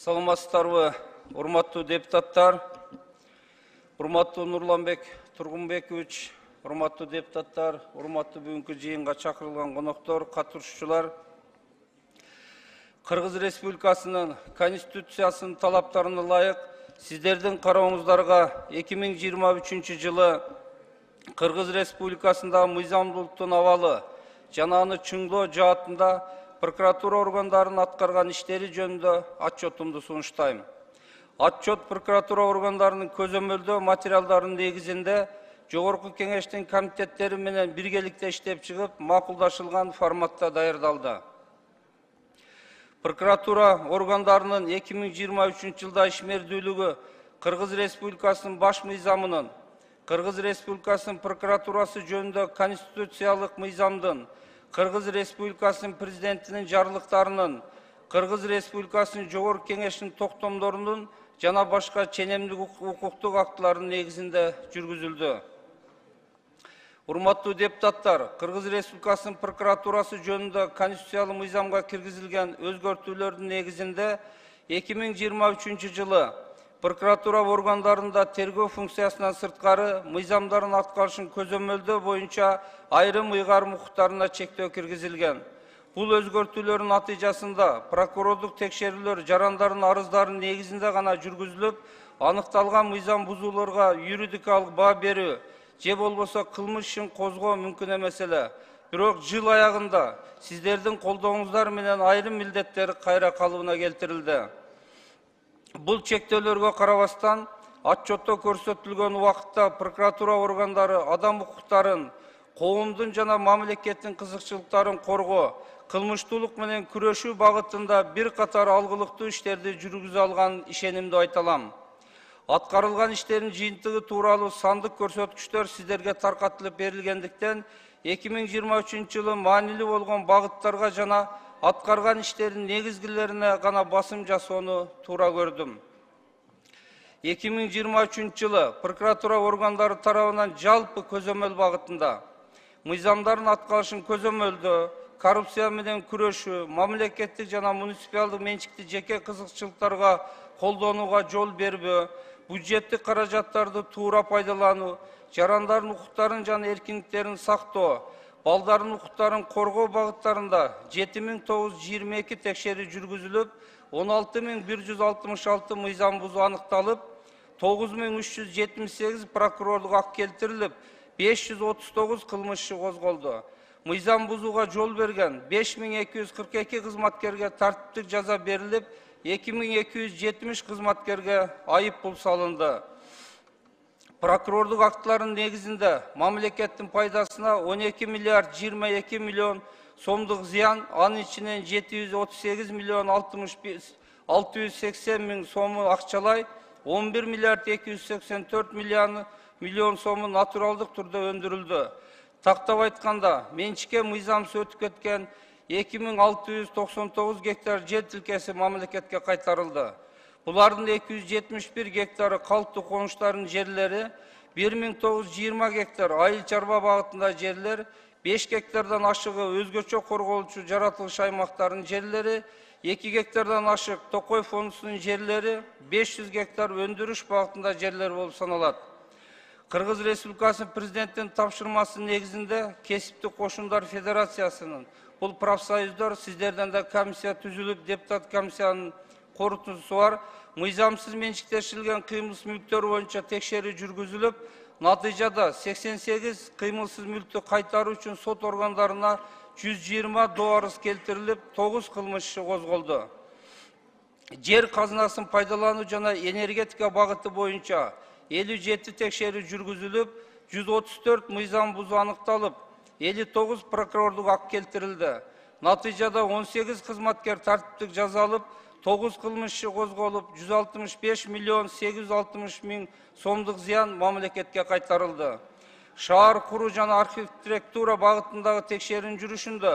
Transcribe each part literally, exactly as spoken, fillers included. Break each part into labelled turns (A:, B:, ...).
A: Саламатсыздарбы, урматтуу депутаттар, урматтуу Нурланбек Тургунбекович, урматтуу депутаттар, урматтуу бүгүнкү жыйынга чакырылган коноктор, катышуучулар. Кыргыз Республикасынын Конституциясынын талаптарына ылайык сиздердин карооңуздарга эки миң жыйырма үчүнчү жылы Кыргыз Республикасындагы мыйзамдуулуктун абалы жана аны чыңдоо жаатында прокуратура органдарынын аткарган иштери жөнүндө отчетумду сунуштайм. Отчет прокуратура органдарынын көзөмөлдөө материалдарынын негизинде Жогорку Кеңештин комитеттери менен биргеликте иштеп чыгып, макулдашылган форматта даярдалды. Прокуратура органдарынын эки миң жыйырма үчүнчү жылда ишмердүүлүгү Кыргыз Республикасынын баш мыйзамынын, Кыргыз Республикасынын прокуратурасы жөнүндө конституциялык мыйзамдын, Кыргыз Республикасынын президентинин жарлыктарынын, Кыргыз Республикасынын Жогорку Кеңештин токтомдорунун жана башка ченемдик укуктук актыларынын негизинде жүргүзүлдү. Урматтуу депутаттар, Кыргыз Республикасынын прокуратурасы жөнүндө конституциялык мыйзамга киргизилген өзгөртүүлөрдүн негизинде эки миң жыйырма үчүнчү жылы прокуратура органдарында тергөө функциясынан сырткары мыйзамдардын аткарышын көзөмөлдөө боюнча айрым ыйгарым укуктарына чектөө киргизилген. Бул өзгөртүүлөрдүн натыйжасында прокурорлук текшерүүлөр жарандардын арыздарынын негизинде гана жүргүзүлүп, аныкталган мыйзам бузууларга юридикалык баа берүү же болбосо кылмыш ишин козгоо мүмкүн эмес эле. Бирок жыл аягында сиздердин колдооңуздар менен айрым милдеттер кайра калыбына келтирилди. Бул чектөөлөргө карабастан, отчетто көрсөтүлгөн убакытта прокуратура органдары адам укуктарын, коомдун жана мамлекеттин кызыкчылыктарын коргоо, кылмыштуулук менен күрөшүү багытында бир катар алгылыктуу иштерди жүргүзө алганын ишенимдүү айта алам. Аткарылган иштердин жыйынтыгы тууралуу сандык көрсөткүчтөр сиздерге таркатылып берилгендиктен, эки миң жыйырма үчүнчү жылы маанилүү болгон багыттарга жана аткарган иштердин негизгилерине гана басым жасоону туура көрдүм. эки миң жыйырма үчүнчү жылы прокуратура органдары тарабынан жалпы көзөмөл багытында мыйзамдардын аткарышын көзөмөлдөө, коррупция менен күрөшүү, мамлекеттик жана муниципалдык менчикти жеке кызыкчылыктарга колдонууга жол бербөө, бюджеттик каражаттарды туура пайдалануу, жарандардын укуктарын жана эркиндиктерин сактоо, балдардын укуктарын коргоо багыттарында жети миң тогуз жүз жыйырма эки текшерүү жүргүзүлүп, он алты миң бир жүз алтымыш алты мыйзам бузуу аныкталып, тогуз миң үч жүз жетимиш сегиз прокурорлук акт келтирилип, беш жүз отуз тогуз кылмыш иши козголду. Мыйзам бузууга жол берген беш миң эки жүз кырк эки кызматкерге тартиптик жаза берилип, эки миң эки жүз жетимиш кызматкерге айып пул салынды. Прокурорлук актыларынын негизинде мамлекеттин пайдасына он эки миллиард жыйырма эки миллион сомдук зыян, анын ичинен жети жүз отуз сегиз миллион алты жүз сексен миң сому акчалай, он бир миллиард эки жүз сексен төрт миллион сому натуралдык турда өндүрүлдү. Тактап айтканда, менчикке мыйзамсыз өтүп кеткен эки миң алты жүз токсон тогуз гектар жер тилкеси мамлекетке кайтарылды. Булардын эки жүз жетимиш бир гектары калктуу конуштардын жерлери, бир миң тогуз жүз жыйырма гектар айыл чарба багытында жерлер, беш гектардан ашыгы өзгөчө корголчу жаратылыш аймактарынын жерлери, эки гектардан ашык Токой фондусунун жерлери, беш жүз гектар өндүрүш багытында жерлер болуп саналат. Кыргыз Республикасынын президенттин тапшырмасынын негизинде Кесиптик кошундар федерациясынын, бул профсоюздар сиздерден да комиссия түзүлүп, депутат комиссиянын корутуусу бар, мыйзамсыз менчиктешилген кыймылсыз мүлктөр боюнча текшерүү жүргүзүлүп, натыйжада сексен сегиз кыймылсыз мүлктү кайтаруу үчүн сот органдарына жүз жыйырма доо арыз келтирилип, тогуз кылмыш иши козголду. Жер казынасын пайдалануу жана энергетика багыты боюнча элүү жети текшерүү жүргүзүлүп, жүз отуз төрт мыйзам бузуу аныкталып, элүү тогуз прокурорлук акт келтирилди. Натыйжада он сегиз кызматкер тартиптик жаза алып, тогуз кылмыш иши козголуп, жүз алтымыш беш миллион сегиз жүз алтымыш миң сомдук зыян мамлекетке кайтарылды. Шаар куруу жана архитектура багытындагы текшерүүнүн жүрүшүндө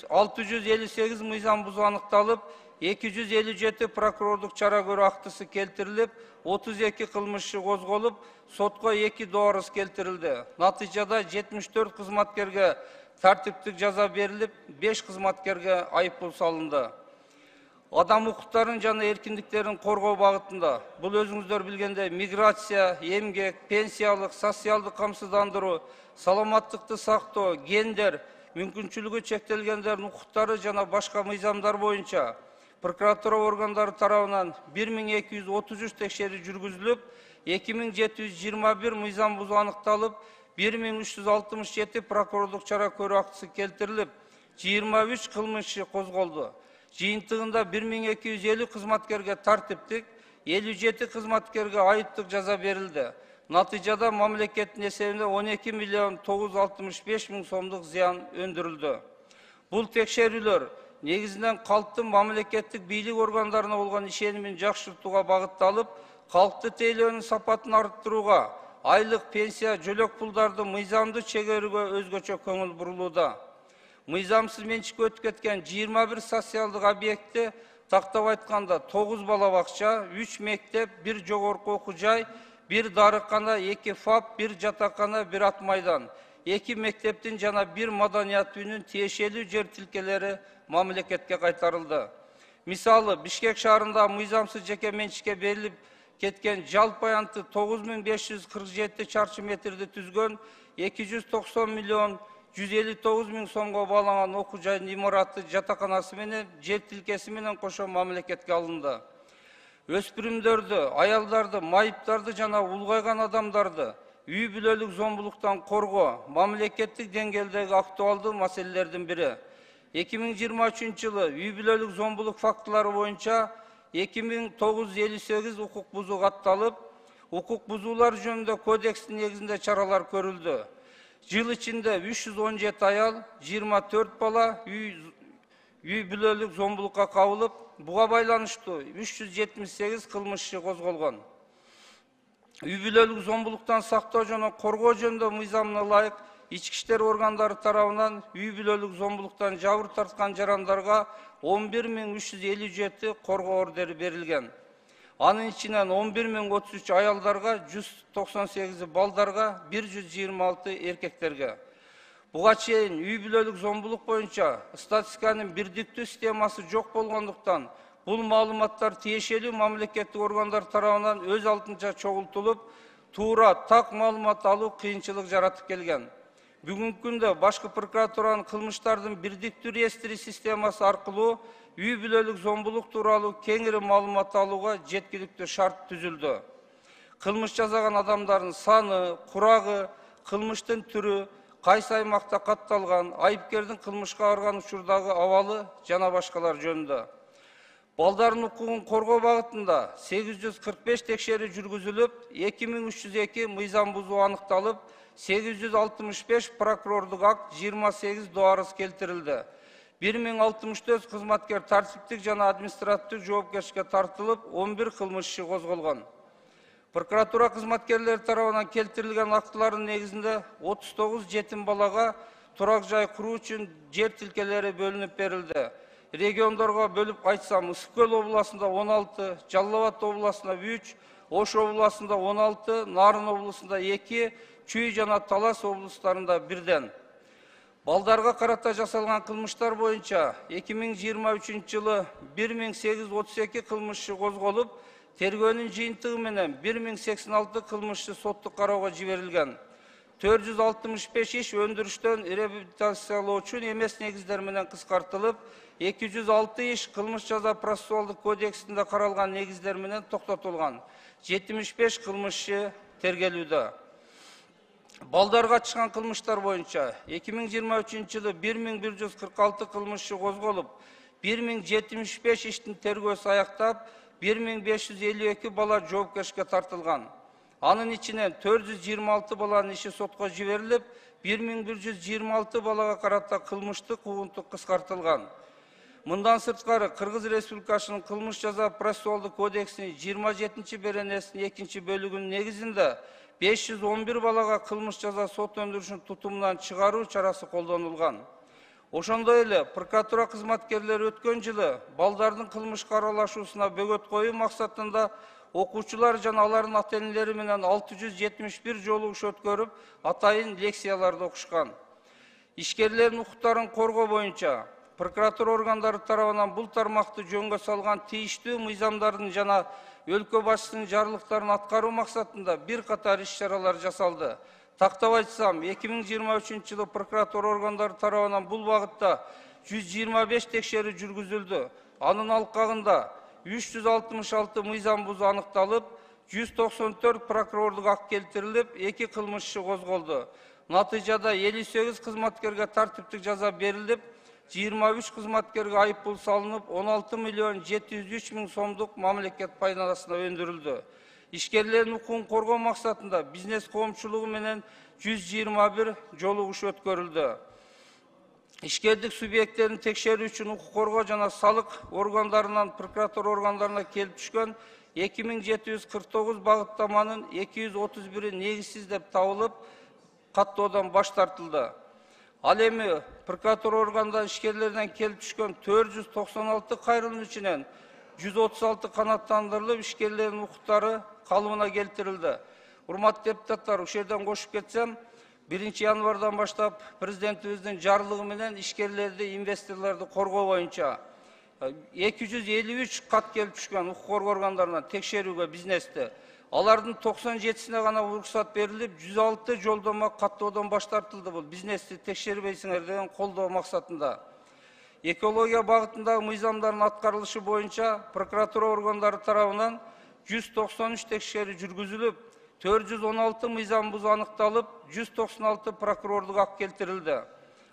A: алты жүз элүү сегиз мыйзам бузуу аныкталып, эки жүз элүү жети прокурорлук чара көрүү актысы келтирилип, отуз эки кылмыш иши козголуп, сотко эки доо арыз келтирилди. Натыйжада жетимиш төрт кызматкерге тартиптик жаза берилип, беш кызматкерге айып пул салынды. адам укуктарын жана эркиндиктерин коргоо багытында. Бул өзүңүздөр билгендей миграция, эмгек, пенсиялык, социалдык камсыздандыруу, саламаттыкты сактоо, гендер, мүмкүнчүлүгү чектелгендердин укуктары жана башка мыйзамдар боюнча прокуратура органдары тарабынан бир миң эки жүз отуз үч текшерүү жүргүзүлүп, эки миң жети жүз жыйырма бир мыйзам бузуу аныкталып, бир миң үч жүз алтымыш жети прокурорлук чара көрүү актысы келтирилип, жыйырма үч кылмыш иши козголду. Жыйынтыгында бир миң эки жүз элүү кызматкерге тартиптик, элүү жети кызматкерге айыптык жаза берилди. Натыйжада мамлекеттин эсебинде он эки миллион тогуз жүз алтымыш беш миң сомдук зыян өндүрүлдү. Бул текшерүүлөр негизинен калктын мамлекеттик бийлик органдарына болгон ишенимин жакшыртууга багытталып, калкты тейлөөнүн сапатын арттырууга, айлык, пенсия, жөлөк пулдарды мыйзамдуу чегерүүгө өзгөчө көңүл бурулууда. Мыйзамсыз менчикке өтүп кеткен жыйырма бир социалдык объектти, тактап айтканда тогуз бала бакча, үч мектеп, бир жогорку окуу жай, бир дарыкана, эки фап, бир жатакана, бир ат майдан, эки мектептин жана бир маданият үйүнүн тиешелүү жер тилкелери мамлекетке кайтарылды. Мисалы, Бишкек шаарында мыйзамсыз жеке менчикке берилип кеткен жалпы аянты тогуз миң беш жүз кырк жети чарчы метрди түзгөн эки жүз токсон миллион жүз элүү тогуз миң сомго баалаган окуу жайдын имараты, жатаканасы менен жер тилкеси менен кошо мамлекетке алынды. Өспүрүмдөрдү, аялдарды, майыптарды жана улгайган адамдарды үй бүлөлүк зомбулуктан коргоо мамлекеттик деңгээлдеги актуалдуу маселелердин бири. эки миң жыйырма үчүнчү жылы үй бүлөлүк зомбулук фактылары боюнча эки миң тогуз жүз элүү сегиз укук бузуу катталып, укук бузуулар жөнүндө кодекстин негизинде чаралар көрүлдү. Жыл ичинде үч жүз он жети аял, жыйырма төрт бала үй үй бүлөлүк зомбулукка кабылып, буга байланыштуу үч жүз жетимиш сегиз кылмыш иши козголгон. Үй бүлөлүк зомбулуктан сактоо жана коргоо жөнүндө мыйзамына ылайык ички иштер органдары тарабынан үй бүлөлүк зомбулуктан жабыр тарткан жарандарга он бир миң үч жүз элүү жети коргоо ордери берилген. Анын ичинен он бир миң отуз үч аялдарга, жүз токсон сегизи балдарга, бир жүз жыйырма алты эркектерге. Буга чейин үй бүлөлүк зомбулук боюнча статистиканын бирдиктүү системасы жок болгондуктан, бул маалыматтар тиешелүү мамлекеттик органдар тарабынан өз алдынча чогултулуп, туура так маалымат алуу кыйынчылык жаратып келген. Бүгүнкү күндө башкы прокуратуранын кылмыштардын бирдиктүү реестри системасы аркылуу үй бүлөлүк зомбулук тууралуу кеңири маалымат алууга жеткиликтүү шарт түзүлдү. Кылмыш жасаган адамдардын саны, курагы, кылмыштын түрү, кайсы аймакта катталган, айыпкердин кылмышка барган учурдагы абалы жана башкалар жөнүндө. Балдардын укугун коргоо багытында сегиз жүз кырк беш текшерүү жүргүзүлүп, эки миң үч жүз эки мыйзам бузуу аныкталып, сегиз жүз алтымыш беш прокурорлук акт, жыйырма сегиз доо арыз келтирилди. бир миң алтымыш төрт кызматкер тартиптик жана административдик жоопкерчиликке тартылып, он бир кылмыш иши козголгон. Прокуратура кызматкерлери тарабынан келтирилген актылардын негизинде отуз тогуз жетим балага турак жай куруу үчүн жер тилкелери бөлүнүп берилди. Региондорго бөлүп айтсам, Ысык көл областында он алты, Жалал Абад областында үч, Ош областында он алты, Нарын областында эки, Чүй жана Талас облустарында бирден. Балдарга карата жасалган кылмыштар боюнча эки миң жыйырма үчүнчү жылы бир миң сегиз жүз отуз эки кылмыш иши козголуп, тергөөнүн жыйынтыгы менен бир миң сексен алты кылмыш иши соттук кароого жиберилген. төрт жүз алтымыш беш иш өндүрүштөн реабилитациялоочу эмес негиздер менен кыскартылып, эки жүз алты иш кылмыш жаза процессуалдык кодексинде каралган негиздер менен токтотулган. жетимиш беш кылмыш иши тергелүүдө. Балдарга чыккан кылмыштар боюнча эки миң жыйырма үчүнчү жылы бир миң бир жүз кырк алты кылмыш иши козголуп, бир миң жетимиш беш иштин тергөөсү аяктап, бир миң беш жүз элүү эки бала жоопкерчиликке тартылган. Анын ичинен төрт жүз жыйырма алты баланын иши сотко жиберилип, бир миң бир жүз жыйырма алты балага карата кылмыштык угунтук кыскартылган. Мындан сырткары Кыргыз Республикасынын кылмыш жаза процессуалдык кодексинин жыйырма жетинчи беренесинин экинчи бөлүгүнүн негизинде беш жүз он бир балага кылмыш жаза сот өндүрүшүнүн тутумунан чыгаруу чарасы колдонулган. Ошондой эле прокуратура кызматкерлери өткөн жылы балдардын кылмышка аралашуусуна бөгөт коюу максатында окуучулар жана алардын ата-энелери менен алты жүз жетимиш бир жолугуш өткөрүп, атайын лекцияларды окушкан. Ишкерлердин укуктарын коргоо боюнча прокуратура органдары тарабынан бул тармакты жөнгө салган тийиштүү мыйзамдардын жана өлкө башчысынын жарлыктарын аткаруу максатында бир катар иш-чаралар жасалды. Тактап айтсам, эки миң жыйырма үчүнчү жылы прокуратура органдары тарабынан бул багытта жүз жыйырма беш текшерүү жүргүзүлдү. Анын алкагында үч жүз алтымыш алты мыйзам бузуу аныкталып, жүз токсон төрт прокурорлук акт келтирилип, эки кылмыш иши козголду. Натыйжада элүү сегиз кызматкерге тартиптик жаза берилип, жыйырма үч кызматкерге айыппул салынып, он алты миллион жети жүз үч миң сомдук мамлекет пайдасына өндүрүлдү. Ишкерлердин укугун коргоо максатында бизнес коомчулугу менен жүз жыйырма бир жолугуш өткөрүлдү. Ишкердик субъекттерин текшерүү үчүн укук коргоо жана салык органдарынан прокуратура органдарына келип түшкөн эки миң жети жүз кырк тогуз багыттаманын эки жүз отуз бири негизсиз деп табылып, каттоодон баш тартылды. Ал эми прокуратура органда ишкерлерден келип түшкөн төрт жүз токсон алты кайрылым ичинен жүз отуз алты канааттандырылып, ишкерлердин укуктары калыбына келтирилди. Урматтуу депутаттар, ушул жерден кошуп кетсем, биринчи январдан баштап президентибиздин жарлыгы менен ишкерлерди, инвесторлорду коргоо боюнча эки жүз элүү үч кат келип түшкөн укук коргоо органдарынан текшерүүгө бизнести. Алардын токсон жетисине гана уруксат берилип, жүз алты жолдомо каттоодон баш тартылды. Бул бизнести текшербейсиңер деген колдоо максатында. Экология багытындагы мыйзамдардын аткарылышы боюнча прокуратура органдары тарабынан жүз токсон үч текшерүү жүргүзүлүп, төрт жүз он алты мыйзам бузуу аныкталып, жүз токсон алты прокурорлук акт келтирилди.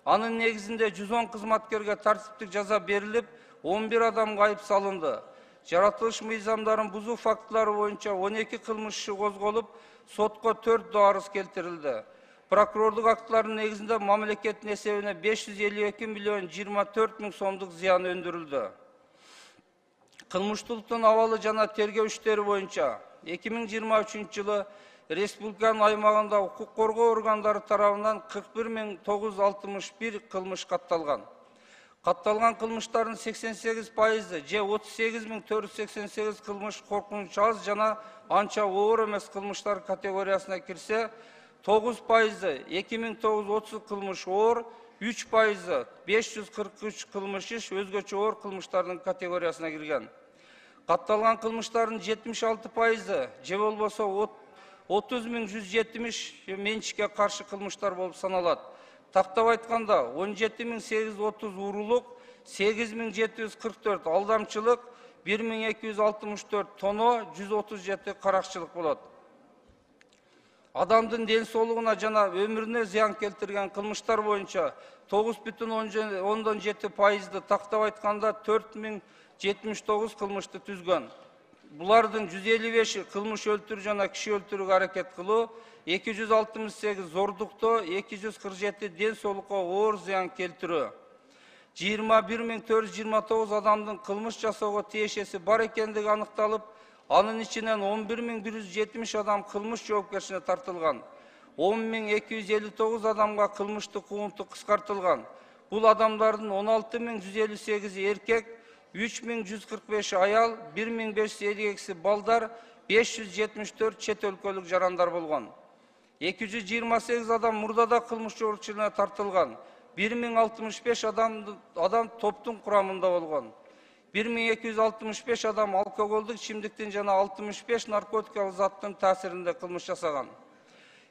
A: Анын негизинде жүз он кызматкерге тартиптик жаза берилип, он бир адамга айып салынды. Жаратылыш мыйзамдарын бузуу фактылары боюнча он эки кылмыш иши козголуп, сотко төрт арыз келтирилди. Прокурорлук актлардын негизинде мамлекеттин эсебине беш жүз элүү эки миллион жыйырма төрт миң сомдук зыян өндүрүлдү. Кылмыштуулуктун абалы жана тергөө иштери боюнча эки миң жыйырма үчүнчү жылы республиканын аймагында укук коргоо органдары тарабынан кырк бир миң тогуз жүз алтымыш бир кылмыш катталган. Катталган кылмыштардын сексен сегиз пайызы же отуз сегиз миң төрт жүз сексен сегиз кылмыш коркунуч аз жана анча оор эмес кылмыштар категориясына кирсе, тогуз пайызы эки миң тогуз жүз отуз кылмыш оор, үч пайызы беш жүз кырк үч кылмыш иш өзгөчө оор кылмыштардын категориясына кирген. Катталган кылмыштардын жетимиш алты пайызы же болбосо отуз миң жүз жетимиш менчикке каршы кылмыштар болуп саналат. Тактап айтканда он жети миң сегиз жүз отуз урулук, сегиз миң жети жүз кырк төрт алдамчылык, бир миң эки жүз алтымыш төрт тоно, жүз отуз жети каракчылык болот. Адамдын ден соолугуна жана өмүрүнө зыян келтирген кылмыштар боюнча тогуз бүтүн ондон жети пайызды, тактап айтканда төрт миң жетимиш тогуз кылмышты түзгөн. Булардын жүз элүү беши кылмыш өлтүрүү жана киши өлтүрүүгө аракет кылуу, эки жүз алтымыш сегиз зордуктоо, эки жүз кырк жети ден соолукка оор зыян келтирүү. жыйырма бир миң төрт жүз жыйырма тогуз адамдын кылмыш жасоого тиешеси бар экендиги аныкталып, анын ичинен он бир миң бир жүз жетимиш адам кылмыш жоопкерчилигине тартылган. он миң эки жүз элүү тогуз адамга кылмыштык куунту кыскартылган. Бул адамдардын он алты миң жүз элүү сегизи эркек, үч миң жүз кырк беши аял, бир миң беш жүз элүү экиси балдар, беш жүз жетимиш төрт чет өлкөлүк жарандар болгон. эки жүз жыйырма сегиз адам мурдада кылмыш жоопкерчилигине тартылган. бир миң алтымыш беш адам адам топтун курамында болгон. бир миң эки жүз алтымыш беш адам алкоголдук ичимдиктин жана алтымыш беш наркотикалык заттын таасиринде кылмыш жасаган.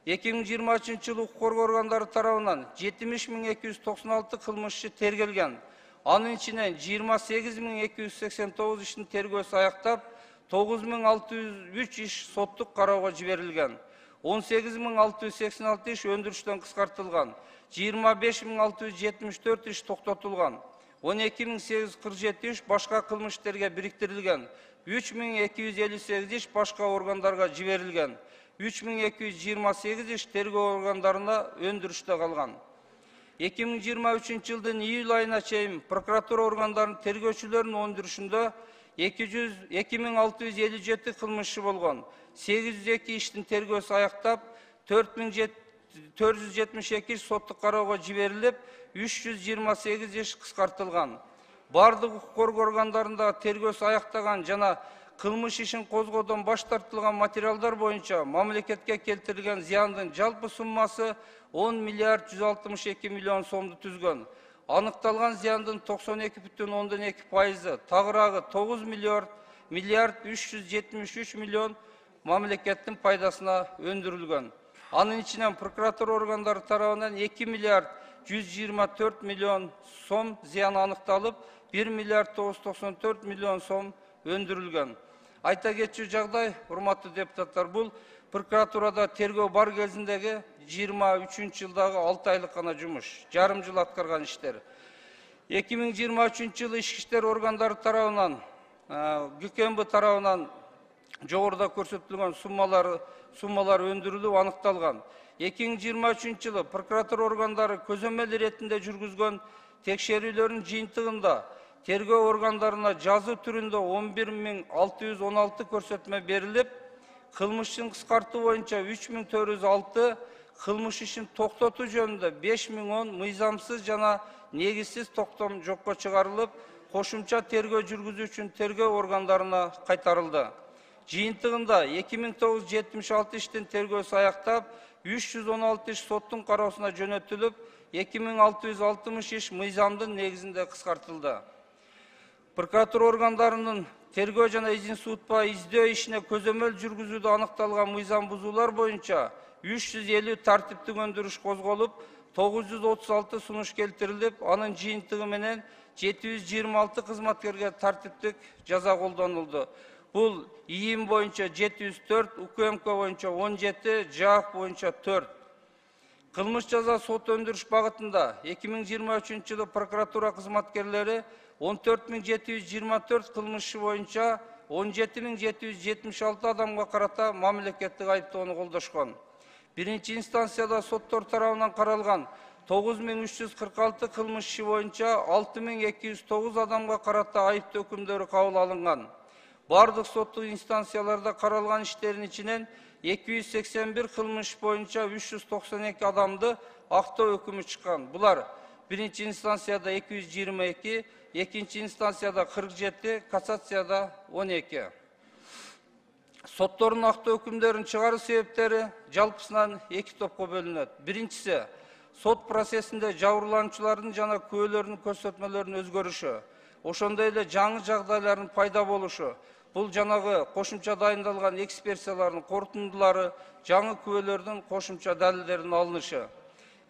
A: эки миң жыйырма үчүнчү жылы укук коргоо органдары тарабынан жетимиш миң эки жүз токсон алты кылмыш иши тергелген. Анын ичинен жыйырма сегиз миң эки жүз сексен тогуз иштин тергөөсү аяктап, тогуз миң алты жүз үч иш соттук кароого жиберилген. он сегиз миң алты жүз сексен алты иш өндүрүштөн кыскартылган. жыйырма беш миң алты жүз жетимиш төрт иш токтотулган. он эки миң сегиз жүз кырк жети иш башка кылмыш иштерге бириктирилген. үч миң эки жүз элүү сегиз иш башка органдарга жиберилген. үч миң эки жүз жыйырма сегиз иш тергөө органдарына өндүрүштө калган. эки миң жыйырма үчүнчү жылдын июль айына чейин прокуратура органдарынын тергөөчүлөрүнүн өндүрүшүндө эки миң алты жүз элүү жети кылмыш иши болгон. сегиз жүз эки иштин тергөөсү аяктап, төрт миң төрт жүз жетимиш эки иш соттук кароого жиберилип, үч жүз жыйырма сегиз иш кыскартылган. Бардык укук коргоо органдарында тергөөсү аяктаган жана кылмыш ишин козгоодон баш тартылган материалдар боюнча мамлекетке келтирилген зыяндын жалпы суммасы он миллиард жүз алтымыш эки миллион сомду түзгөн. Анықталған зияндын токсон эки бүтүн ондон эки пайызы, тагыраагы тогуз миллиард үч жүз жетимиш үч миллион мамлекеттин пайдасына өндүрүлгөн. Анын ичинен прокуратура органдары тарабынан эки миллиард жүз жыйырма төрт миллион сом зыян аныкталып, бир миллиард тогуз жүз токсон төрт миллион сом өндүрүлгөн. Айта кетчү жагдай, урматтуу депутаттар, бул прокуратурада тергөө бар кезиндеги жыйырма үчүнчү жылдагы алты айлык гана жумуш, жарым жыл аткарган иштер. эки миң жыйырма үчүнчү жылы ички иштер органдары тарабынан, ГКМБ тарабынан жогоруда көрсөтүлгөн суммалар суммалар өндүрүлүп аныкталган. эки миң жыйырма үчүнчү жылы прокуратура органдары көзөмөл иретинде жүргүзгөн текшерүүлөрдүн жыйынтыгында тергөө органдарына жазуу түрүндө он бир миң алты жүз он алты көрсөтмө берилип, кылмыштын кыскартуу боюнча үч миң төрт жүз алты, кылмыш ишин токтотуу жөнүндө беш миң он мыйзамсыз жана негизсиз токтом жокко чыгарылып, кошумча тергөө жүргүзүү үчүн тергөө органдарына кайтарылды. Жыйынтыгында эки миң тогуз жүз жетимиш алты иштин тергөөсү аяктап, үч жүз он алты иш соттун кароосуна жөнөтүлүп, эки миң алты жүз алтымыш иш мыйзамдын негизинде кыскартылды. Прокуратура органдарынын тергөө жана изин суутпай издөө ишине көзөмөл жүргүзүүдө аныкталган мыйзам бузуулар боюнча үч жүз элүү тартиптик өндүрүш козголуп, тогуз жүз отуз алты сунуш келтирилип, анын жыйынтыгы менен жети жүз жыйырма алты кызматкерге тартиптик жаза колдонулду. Бул ИИМ боюнча жети жүз төрт, УКМК боюнча он жети, ЖААК боюнча төрт. Кылмыш жаза сот өндүрүш багытында эки миң жыйырма үчүнчү жылы прокуратура кызматкерлери он төрт миң жети жүз жыйырма төрт кылмыш иши боюнча он жети миң жети жүз жетимиш алты адамга карата мамлекеттик айыптоону колдошкон. Биринчи инстанцияда соттор тарабынан каралган тогуз миң үч жүз кырк алты кылмыш иши боюнча алты миң эки жүз тогуз адамга карата айыптоо өкүмдөрү кабыл алынган. Бардык соттук инстанцияларда каралган иштердин ичинен эки жүз сексен бир кылмыш боюнча үч жүз токсон эки адамды актоо өкүмү чыккан. Булар биринчи инстанцияда эки жүз жыйырма эки, экинчи инстанцияда кырк жети, кассацияда он эки. Соттордун актоо өкүмдөрүн чыгаруу себептери жалпысынан эки топко бөлүнөт. Биринчиси, сот процессинде жабырлануучулардын жана күбөлөрдүн көрсөтмөлөрүнүн өзгөрүшү, ошондой эле жаңы жагдайлардын пайда болушу. Бул жанагы кошумча дайындалган экспертизалардын корутундулары, жаңы күбөлөрдүн кошумча далилдеринин алынышы.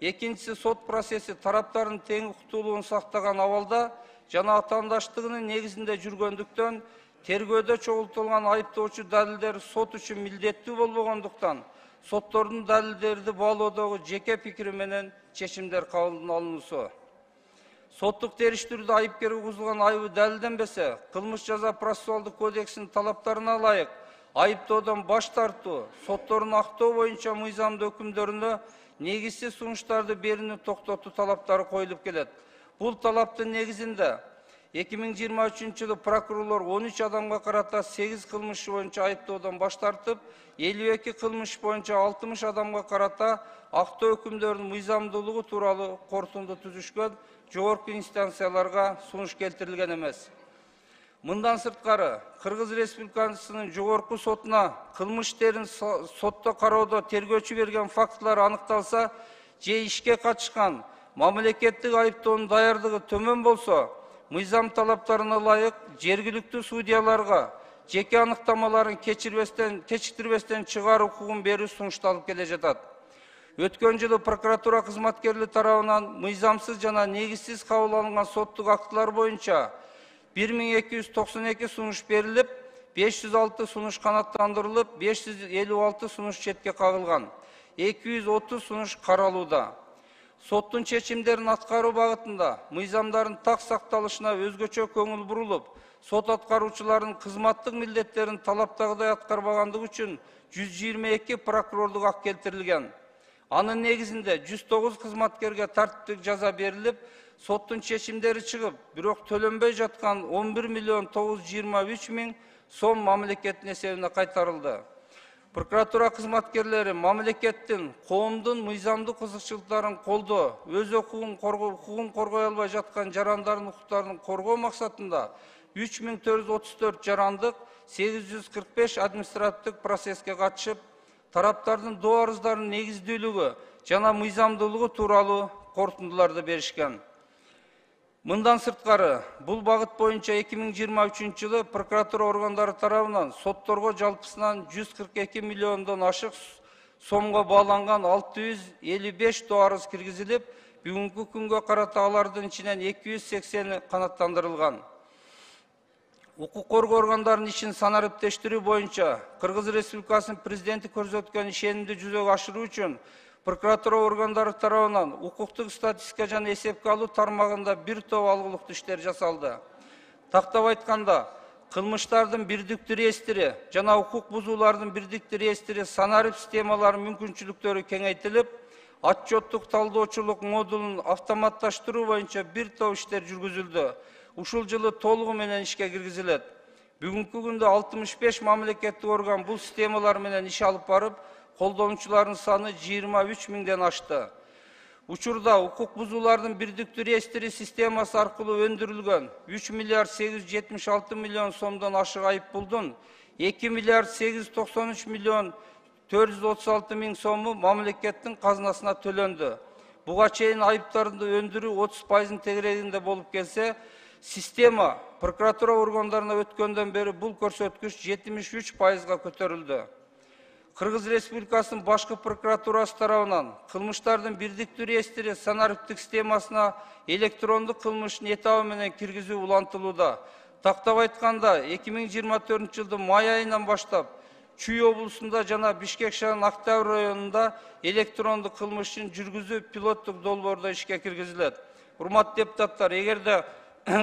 A: Экинчиси, сот процесси тараптардын тең укуктуулугун сактаган абалда жана атаандаштыгынын негизинде жүргөндүктөн, тергөөдө чогултулган айыптоочу далилдер сот үчүн милдеттүү болбогондуктан, соттордун далилдерди баалоодогу жеке пикири менен чечимдер кабыл алынуусу. Соттук териштирүүдө айыпкерге козулган айыбы далилденбесе, кылмыш жаза процессуалдык кодексинин талаптарына ылайык айыптоодон баш тартуу, соттордун актоо боюнча мыйзамдуу өкүмдөрүнө негизсиз сунуштарды берүүнү токтотуу талаптары коюлуп келет. Бул талаптын негизинде эки миң жыйырма үчүнчү жылы прокурорлор он үч адамга карата сегиз кылмыш боюнча айыптоодон баш тартып, элүү эки кылмыш боюнча алтымыш адамга карата актоо өкүмдөрүнүн мыйзамдуулугу тууралуу корутунду түзүшкөн, жогорку инстанцияларга сунуш келтирилген эмес. Мындан сырткары, Кыргыз Республикасынын жогорку сотуна кылмыш иштерин сотто кароодо тергөөчү берген фактылар аныкталса, же ишке катышкан мамлекеттик айыптоонун даярдыгы төмөн болсо, мыйзам талаптарына ылайык жергиликтүү судьяларга жеке аныктамаларын кечирбестен, кечиктирбестен чыгаруу укугун берүү сунушталып келе жатат. Өткөн жылы прокуратура кызматкерлери тарабынан мыйзамсыз жана негизсиз кабыл алынган соттук актылар боюнча бир миң эки жүз токсон эки сунуш берилип, беш жүз алты сунуш канааттандырылып, беш жүз элүү алты сунуш четке кагылган, эки жүз отуз сунуш каралууда. Соттун чечимдерин аткаруу багытында мыйзамдардын так сакталышына өзгөчө көңүл бурулуп, сот аткаруучуларынын кызматтык милдеттерин талаптагыдай аткарбагандыгы үчүн жүз жыйырма эки прокурорлук акт келтирилген. Анын негизинде жүз тогуз кызматкерге тартиптик жаза берилип, соттун чечимдери чыгып, бирок төлөнбөй жаткан он бир миллион тогуз жүз жыйырма үч миң сом мамлекеттин эсебине кайтарылды. Прокуратура кызматкерлери мамлекеттин, коомдун мыйзамдык кызыкчылыктарын колдоо, өз укугун коргой албай жаткан жарандардын укуктарын коргоо максатында үч миң төрт жүз отуз төрт жарандык, сегиз жүз кырк беш административдик процесске катышып, тараптардын доо арыздарынын негиздүүлүгү жана мыйзамдуулугу тууралуу корутундуларды беришкен. Мындан сырткары, бул багыт боюнча эки миң жыйырма үчүнчү жылы прокуратура органдары тарабынан сотторго жалпысынан жүз кырк эки миллиондон ашык сомго бааланган алты жүз элүү беш доо арыз киргизилип, бүгүнкү күнгө карата алардын ичинен эки жүз сексени канааттандырылган. Укук коргоо органдарынын ишин санариптештирүү боюнча Кыргыз Республикасынын президенти көрсөткөн ишенимди жүзөгө ашыруу үчүн прокуратура органдары тарабынан укуктук статистика жана эсепке алуу тармагында бир топ алгылыктуу иштер жасалды. Тактап айтканда, кылмыштардын бирдиктүү реестри жана укук бузуулардын бирдиктүү реестри санарип системаларынын мүмкүнчүлүктөрү кеңейтилип, отчеттук талдоочулук модулун автоматташтыруу боюнча бир топ иштер жүргүзүлдү. Ушул жылы толугу менен ишке киргизилет. Бүгүнкү күндө алтымыш беш мамлекеттик орган бул системалар менен иш алып барып, колдонуучулардын саны жыйырма үч миңден ашты. Учурда укук бузуулардын бирдиктүү реестри системасы аркылуу өндүрүлгөн үч миллиард сегиз жүз жетимиш алты миллион сомдон ашык айыппулдун эки миллиард сегиз жүз токсон үч миллион төрт жүз отуз алты миң сому мамлекеттин казынасына төлөндү. Буга чейин айыптарды өндүрүү отуз пайыздын тегерегинде болуп келсе, система прокуратура органдарына өткөндөн бери бул көрсөткүч жетимиш үч пайызга көтөрүлдү. Кыргыз Республикасынын башкы прокуратурасы тарабынан кылмыштардын бирдиктүү реестри санариптик системасына электрондук кылмыштын этабы менен киргизүү улантылууда. Тактап айтканда, эки миң жыйырма төртүнчү жылдын май айынан баштап Чүй облусунда жана Бишкек шаарынын Октябрь районунда электрондук кылмыштын жүргүзүү пилоттук долбоордо ишке киргизилет. Урматтуу депутаттар, эгерде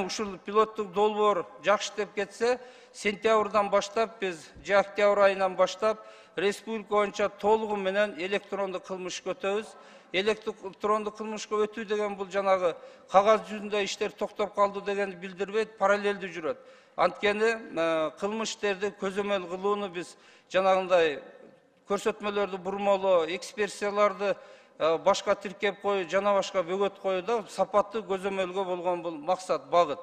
A: ушул пилоттук долбоор жакшы деп кетсе, сентябрдан баштап биз же октябрь айынан баштап республика боюнча толугу менен электрондук кылмышка өтөбүз. Электрондук кылмышка өтүү деген бул жанагы кагаз жүзүндө иштер токтоп калды дегенди билдирбейт, параллелдүү жүрөт. Анткени кылмыш иштерди көзөмөл кылууну биз жанагындай көрсөтмөлөрдү бурмалоо, экспертизаларды башка тиркеп коюу, жана башка бөгөт коюуда сапаттуу көзөмөлгө болгон бул максат, багыт.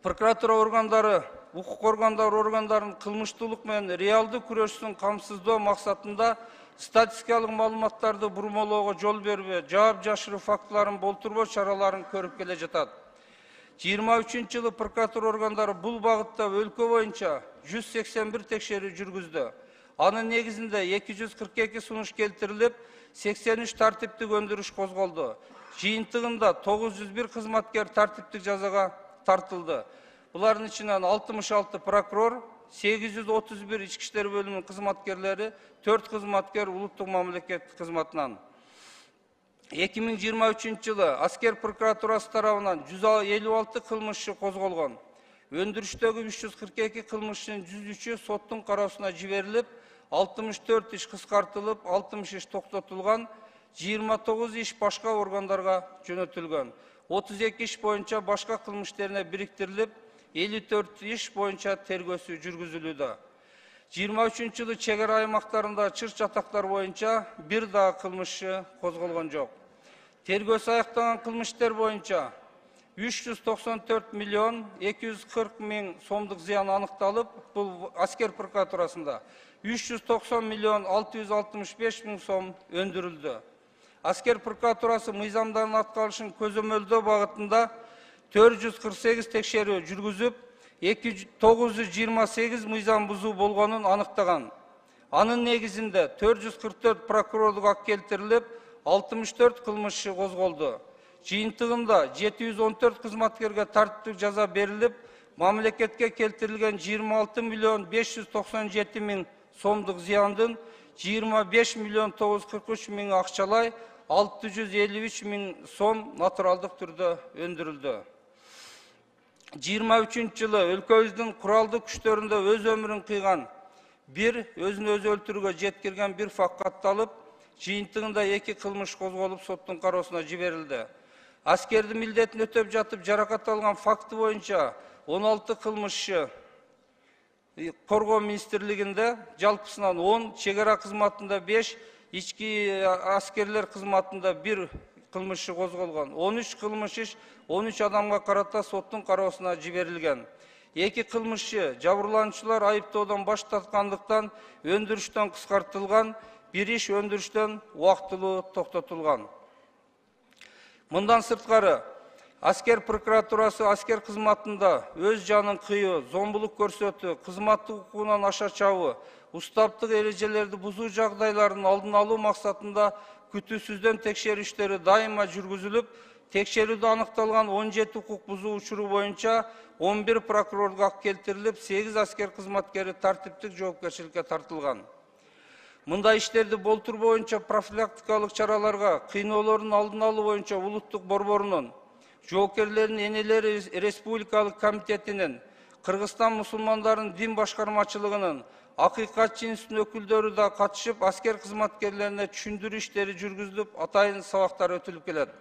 A: Прокуратура органдары, укук органдары органдарынын кылмыштуулук менен реалдуу күрөшүн камсыздоо максатында статистикалык маалыматтарды бурмалоого жол бербөө, жаап жашыруу фактыларын болтурбоо чараларын көрүп келе жатат. жыйырма үчүнчү жылы прокуратура органдары бул багытта өлкө боюнча жүз сексен бир текшерүү жүргүздү. Анын негизинде эки жүз кырк эки сунуш келтирилип, сексен үч тартиптик өндүрүш козголду. Жыйынтыгында тогуз жүз бир кызматкер тартиптик жазага тартылды. Булардын ичинен алтымыш алты прокурор, сегиз жүз отуз бир ички иштер бөлүмүнүн кызматкерлери, төрт кызматкер улуттук мамлекеттик кызматынан. эки миң жыйырма үчүнчү жылы аскер прокуратурасы тарабынан жүз элүү алты кылмышчы козголгон. Өндүрүштөгү үч жүз кырк эки кылмыштын жүз үчү соттун кароосуна жиберилип, алтымыш төрт иш кыскартылып, алтымыш иш токтотулган, жыйырма тогуз иш башка органдарга жөнөтүлгөн. отуз эки иш боюнча башка кылмыш иштерине бириктирилип, элүү төрт иш боюнча тергөөсү жүргүзүлүүдө. жыйырма үчүнчү жылы чек ара аймактарында чыр чатактар боюнча бир дагы кылмышчы козголгон жок. Тергөөсү аяктаган кылмыш иштер боюнча үч жүз токсон төрт миллион эки жүз кырк миң сомдук зыян аныкталып, бул аскер прокуратурасында үч жүз токсон миллион алты жүз алтымыш беш миң сом өндүрүлдү. Аскер прокуратурасы мыйзамдардын аткарылышын көзөмөлдөө багытында төрт жүз кырк сегиз текшерүү жүргүзүп, тогуз жүз жыйырма сегиз мыйзам бузуу болгонун аныктаган. Анын негизинде төрт жүз кырк төрт прокурорлук акт келтирилип, алтымыш төрт кылмышчы козголду. Жыйынтыгында жети жүз он төрт кызматкерге тартиптик жаза берилип, мамлекетке келтирилген жыйырма алты миллион беш жүз токсон жети миң сомдук зыяндын жыйырма беш миллион тогуз жүз кырк үч миң акчалай, алты жүз элүү үч миң сом натуралдык түрдө өндүрүлдү. жыйырма үчүнчү жылы өлкөбүздүн куралдуу күчтөрүндө өз өмүрүн кыйган бир өзүн өзү өлтүрүүгө жеткирген бир факт катталып, жыйынтыгында эки кылмыш козголуп, соттун кароосуна жиберилди. Аскердин милдетин өтөп жатып жаракат алган факты боюнча он алты кылмышчы коргоо министрлигинде жалпысынан он, чек ара кызматында беш, ички аскерлер кызматында бир кылмышчы козголгон. он үч кылмыш иш он үч адамга карата соттун кароосуна жиберилген. эки кылмышчы жабырлануучулар айыптоодон баш тарткандыктан өндүрүштөн кыскартылган, бир иш өндүрүштөн убактылуу токтотулган. Мындан сырткары, Аскер прокуратурасы аскер кызматында өз жанын кыйоо, зомбулук көрсөтүү, кызматтык укугунан аша чабуу, устаптык эрежелерди бузуу жагдайларын алдын алуу максатында күтүүсүздөн текшерүү иштери дайыма жүргүзүлүп, текшерүүдө аныкталган он жети укук бузуу учуру боюнча он бир прокурорго ак келтирилип, сегиз аскер кызматкери тартиптик жоопкерчиликке тартылган. Мындай иштерди болтур боюнча профилактикалык чараларга, кыйноолордун алдын алуу боюнча улуттук борборунун, жоокерлердин энелери республикалык комитетинин, Кыргызстан мусулмандарынын дин башкармачылыгынын, акыйкатчы институттун өкүлдөрү да катышып, аскер кызматкерлерине түшүндүрүү иштери жүргүзүлүп, атайын сабактар өтүлүп келет.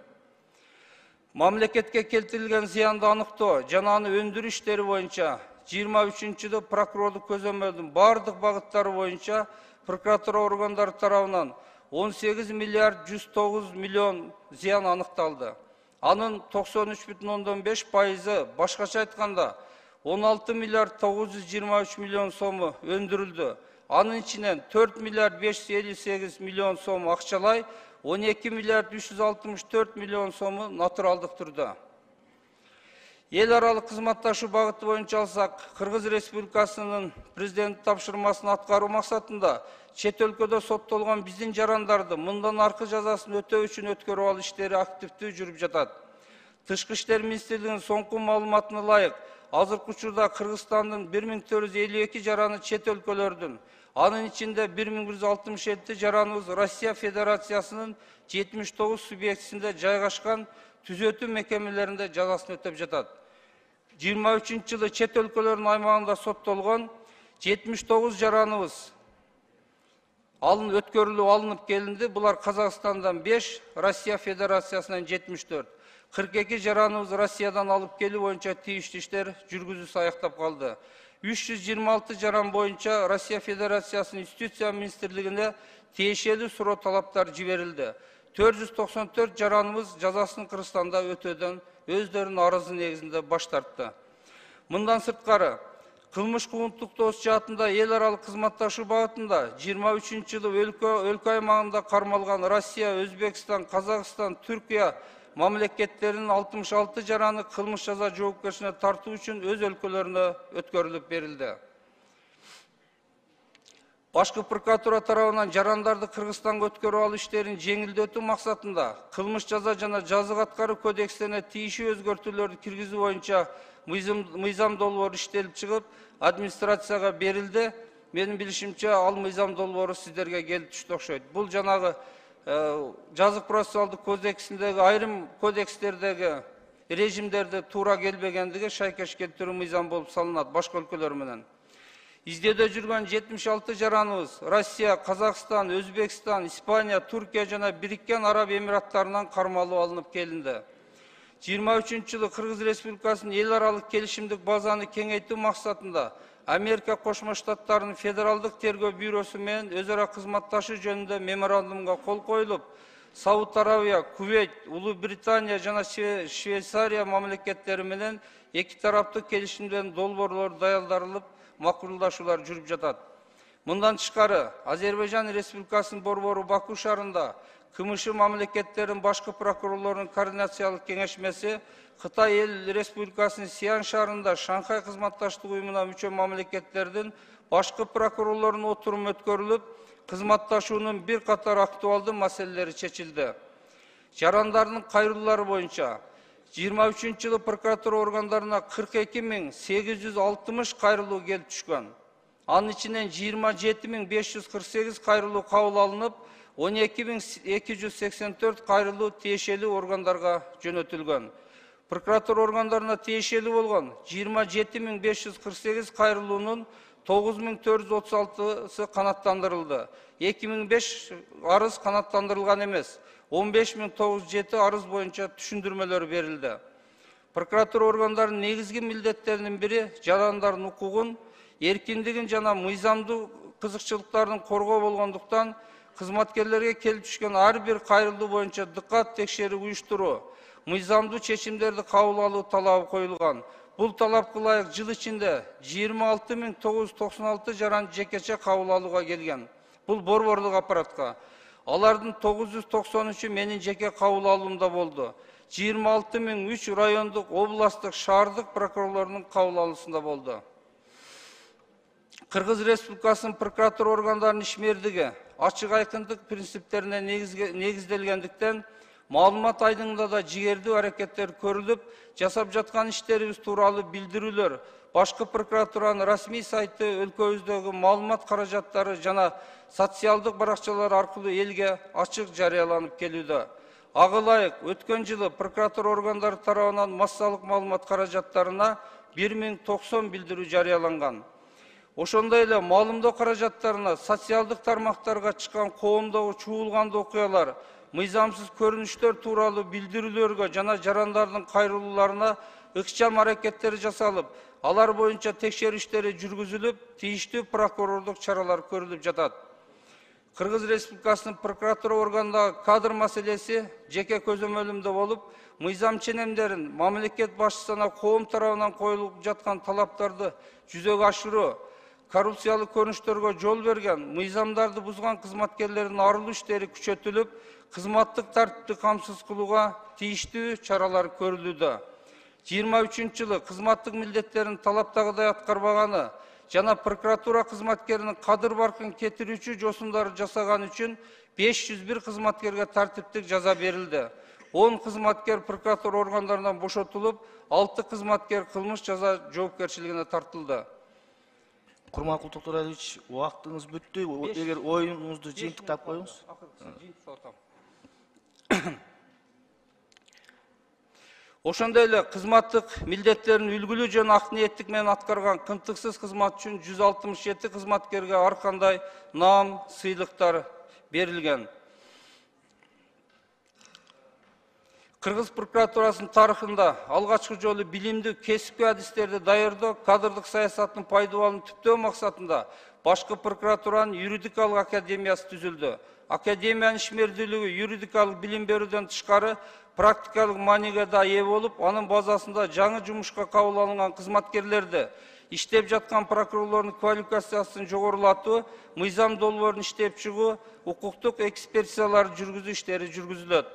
A: Мамлекетке келтирилген зыянды аныктоо жана аны өндүрүү иштери боюнча жыйырма үчүнчү жылы прокурорлук көзөмөлдүн бардык багыттары боюнча прокуратура органдары тарабынан он сегиз миллиард жүз тогуз миллион зыян аныкталды. Анын токсон үч бүтүн ондон беш пайызы, башкача айтканда он алты миллиард тогуз жүз жыйырма үч миллион сому өндүрүлдү. Анын ичинен төрт миллиард беш жүз элүү сегиз миллион сом акчалай, он эки миллиард үч жүз алтымыш төрт миллион сому натуралдык түрдө. Эл аралык кызматташуу багыты боюнча алсак, Кыргыз Республикасынын президент тапшырмасын аткаруу максатында чет өлкөдө соттолгон биздин жарандарды мындан аркы жазасын өтөө үчүн өткөрүп алуу иштери активдүү жүрүп жатат. Тышкы иштер министрлигинин соңку маалыматына ылайык, азыркы учурда Кыргызстандын бир миң төрт жүз элүү эки жараны чет өлкөлөрдүн, анын ичинде бир миң бир жүз алтымыш жети жараныбыз Россия Федерациясынын жетимиш тогуз субъектисинде жайгашкан түзөтүү мекемелеринде жазасын өтөп жатат. жыйырма үчүнчү жылы чет өлкөлөрдүн аймагында соттолгон жетимиш тогуз жараныбыз алын өткөрүлүп алынып келинди. Булар Казакстандан беш, Россия Федерациясынан жетимиш төрт. кырк эки жараныбыз Россиядан алып келүү боюнча тийиштүү иштер жүргүзүүсү аяктап калды. үч жүз жыйырма алты жаран боюнча Россия Федерациясынын Юстиция министрлигине тиешелүү суроо талаптар жиберилди. төрт жүз токсон төрт жараныбыз жазасын Кыргызстанда өтөөдөн өздөрүнүн арызы негизинде баш тартты. Мындан сырткары, кылмыш куугунтук тоос жаатында эл аралык кызматташуу багытында жыйырма үчүнчү жылы өлкө өлкө аймагында кармалган Россия, Өзбекстан, Казакстан, Түркия мамлекеттеринин алтымыш алты жараны кылмыш жаза жоопкерчиликке тартуу үчүн өз өлкөлөрүнө өткөрүлүп берилди. Башкы прокуратура тарабынан жарандарды Кыргызстанга өткөрүп алуу иштерин жеңилдетүү максатында кылмыш жаза жана жазык аткаруу кодексине тийиштүү өзгөртүүлөрдү киргизүү боюнча мыйзам долбоору иштелип чыгып, администрацияга берилди. Менин билишимче, ал мыйзам долбоору сиздерге келип түштү окшойт. Бул жанагы жазык процессуалдык кодексиндеги айрым кодекстердеги режимдерди туура келбегендиги шайкеш келтирүү мыйзам болуп салынат башка өлкөлөр менен. Издөөдө жүргөн жетимиш алты жараныбыз Россия, Казакстан, Өзбекстан, Испания, Түркия жана Бириккен Араб Эмираттарынан кармалып алынып келинди. жыйырма үчүнчү жылы Кыргыз Республикасынын эл аралык келишимдик базаны кеңейтүү максатында Америка Кошмо Штаттарынын Федералдык тергөө бюросу менен өз ара кызматташуу жөнүндө меморандумга кол коюлуп, Сауд Арабия, Кувейт, Улуу Британия жана Швейцария мамлекеттери менен эки тараптык келишимдердин долбоорлору даярдалып, макулдашуулар жүрүп жатат. Мындан тышкары, Азербайжан Республикасынын борбору Баку шаарында КМШ мамлекеттеринин башкы прокурорлорунун координациялык кеңешмеси, Кытай эл Республикасынын Сиан шаарында Шанхай кызматташтык уюмуна мүчө мамлекеттердин башкы прокурорлорунун отуруму өткөрүлүп, кызматташуунун бир катар актуалдуу маселелери чечилди. Жарандардын кайрылуулары боюнча жыйырма үчүнчү жылы прокуратура органдарына кырк эки миң сегиз жүз алтымыш кайрылуу келип түшкөн. Анын ичинен жыйырма жети миң беш жүз кырк сегиз кайрылуу кабыл алынып, он эки миң эки жүз сексен төрт кайрылуу тиешелүү органдарга жөнөтүлгөн. Прокуратура органдарына тиешелүү болгон жыйырма жети миң беш жүз кырк сегиз кайрылуунун тогуз миң төрт жүз отуз алтысы канаттандырылды. эки миң беш арыз канаттандырылган эмес. он беш миң тогуз жүз жети арыз боюнча түшүндүрмөлөр берилди. Прокуратура органдарынын негизги милдеттеринин бири жарандардын укугун, эркиндигин жана мыйзамдуу кызыкчылыктарын коргоо болгондуктан, кызматкерлерге келип түшкөн ар бир кайрылуу боюнча дыккат текшерүү уюштуруу, мыйзамдуу чечимдерди кабыл алуу талабы коюлган. Бул талапка ылайык жыл ичинде жыйырма алты миң тогуз жүз токсон алты жаран жекече кабыл алууга келген. Бул борборлук аппаратка. Алардын тогуз жүз токсон үчү менин жеке кабыл алуумда болду. жыйырма алты миң үч райондук, областтык, шаардык прокурорлордун кабыл алуусунда болду. Кыргыз Республикасынын прокуратура органдарынын ишмердиги ачык айкындык принциптерине негизделгендиктен маалымат айдыңында да жигердүү аракеттер көрүлүп, жасап жаткан иштерибиз тууралуу билдирүүлөр башкы прокуратуранын расмий сайты, өлкөбүздөгү маалымат каражаттары жана социалдык баракчалар аркылуу элге ачык жарыяланып келүүдө. Ага ылайык, өткөн жылы прокуратура органдары тарабынан массалык маалымат каражаттарына бир миң токсон билдирүү жарыяланган. Ошондой эле маалымдоо каражаттарына социалдык тармактарга чыккан коомдогу чуулгандуу окуялар, мыйзамсыз көрүнүштөр тууралуу билдирүүлөргө жана жарандардын кайрылууларына ыкчам аракеттер жасалып, алар боюнча текшерүү иштери жүргүзүлүп, тийиштүү прокурорлук чаралар көрүлүп жатат. Кыргыз Республикасынын прокуратура органындагы кадр маселеси жеке көзөмөлүмдө болуп, мыйзам ченемдерин мамлекет башчысына коом тарабынан коюлуп жаткан талаптарды жүзөгө ашыруу, коррупциялык көрүнүштөргө жол берген, мыйзамдарды бузган кызматкерлердин арылуу иштери күчөтүлүп, кызматтык тартипти камсыз кылууга тийиштүү чаралар көрүлүүдө. жыйырма үчүнчү жылы кызматтык милдеттерин талаптагыдай аткарбаганы жана прокуратура кызматкеринин кадыр баркын кетирүүчү жосундарды жасаган үчүн беш жүз бир кызматкерге тартиптик жаза берилди. он кызматкер прокуратура органдарынан бошотулуп, алты кызматкер кылмыш жаза жоопкерчилигине тартылды.
B: Курманкул Токторалиевич, убактыңыз бүттү. Эгер оюңузду жыйынтыктап коюңуз.
A: Ошондой эле кызматтык милдеттерин үлгүлүү жана ак ниеттик менен аткарган кынтыксыз кызмат үчүн жүз алтымыш жети кызматкерге ар кандай наам, сыйлыктар берилген. Кыргыз прокуратурасынын тарыхында алгачкы жолу билимдүү кесипкөй адистерди даярдоо, кадрдык саясаттын пайдаланууну түптөө максатында башкы прокуратуранын юридикалык академиясы түзүлдү. Академиянын ишмердүүлүгү юридикалык билим берүүдөн тышкары практикалык мааниге да ээ болуп, анын базасында жаңы жумушка кабыл алынган кызматкерлерди, иштеп жаткан прокурорлордун квалификациясын жогорулатуу, мыйзам долбоорун иштеп чыгуу, укуктук экспертизаларды жүргүзүү иштери жүргүзүлөт.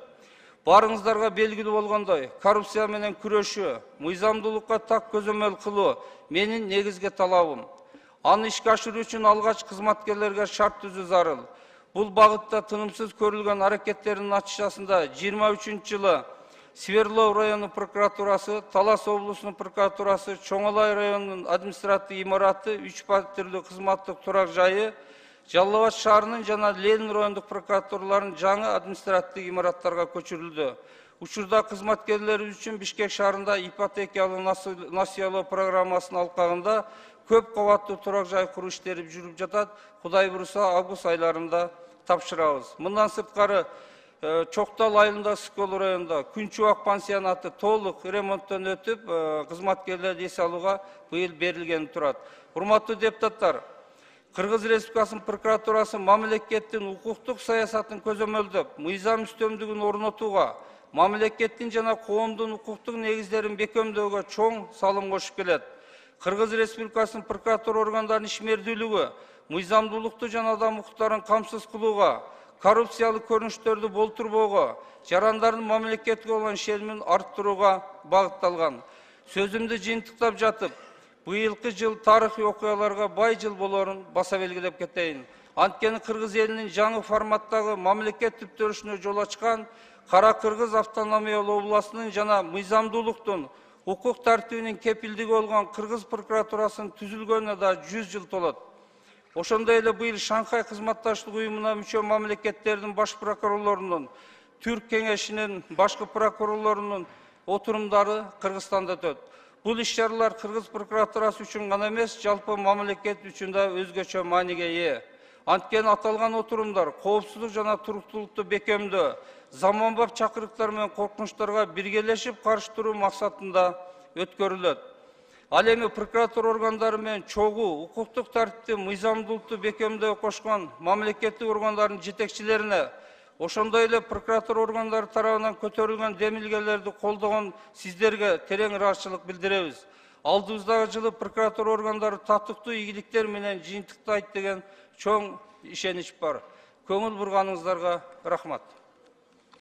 A: Барыңыздарга белгилүү болгондой, коррупция менен күрөшүү, мыйзамдуулукка так көзөмөл кылуу менин негизги талабым. Аны ишке ашыруу үчүн алгач кызматкерлерге шарт түзүү зарыл. Бул багытта тынымсыз көрүлгөн аракеттердин натыйжасында жыйырма үчүнчү жылы Сверлов району прокуратурасы, Талас облусунун прокуратурасы, Чоңолай районунун административдик имараты, үч паттирлүү кызматтык турак жайы, Жалал Абад шаарынын жана Ленин райондук прокуратураларынын жаңы административдик имараттарга көчүрүлдү. Учурда кызматкерлерибиз үчүн Бишкек шаарында ипотекалык насыялоо программасынын алкагында көп кабаттуу турак жай куруу иштери жүрүп жатат. Кудай буйруса, август айларында тапшырабыз. Мындан сырткары Чоктал айылындагы Скол районунда Күнчүбак пансионаты толук ремонттон өтүп, кызматкерлерди эс алууга быйыл берилгени турат. Урматтуу депутаттар, Кыргыз Республикасынын прокуратурасы мамлекеттин укуктук саясатын көзөмөлдөп, мыйзам үстөмдүгүн орнотууга, мамлекеттин жана коомдун укуктук негиздерин бекемдөөгө чоң салым кошуп келет. Кыргыз Республикасынын прокуратура органдарынын ишмердүүлүгү мыйзамдуулукту жана адам укуктарын камсыз кылууга, коррупциялык көрүнүштөрдү болтурбоого, жарандардын мамлекетке болгон ишенимин арттырууга багытталган. Сөзүмдү жыйынтыктап жатып, быйылкы жыл тарыхый окуяларга бай жыл болоорун баса белгилеп кетейин. Анткени кыргыз элинин жаңы форматтагы мамлекет түптөрүшүнө жол ачкан Кара Кыргыз автономиялуу областынын жана мыйзамдуулуктун, укук тартибинин кепилдиги болгон Кыргыз прокуратурасынын түзүлгөнүнө да жүз жыл толот. Ошондой эле быйыл Шанхай кызматташтык уюмуна мүчө мамлекеттердин баш прокурорлорунун, Түрк кеңешинин башкы прокурорлорунун отурумдары Кыргызстанда өтөт. Бул иш-чаралар Кыргыз прокуратурасы үчүн гана эмес, жалпы мамлекет үчүн да өзгөчө мааниге ээ. Анткени аталган отурумдар коопсуздук жана туруктуулукту бекемдөө, заманбап чакырыктар менен коркунучтарга биргелешип каршы туруу максатында өткөрүлөт. Ал эми прокуратура органдары менен чогуу укуктук тартипти, мыйзамдуулукту бекемдөөгө кошкон мамлекеттик органдардын жетекчилерине, ошондой эле прокуратура органдары тарабынан көтөрүлгөн демилгелерди колдогон сиздерге терең ыраазычылык билдиребиз. Алдыбыздагы жылы прокуратура органдары татыктуу ийгиликтер менен жыйынтыктайт деген чоң ишенич бар. Көңүл бурганыңыздарга рахмат.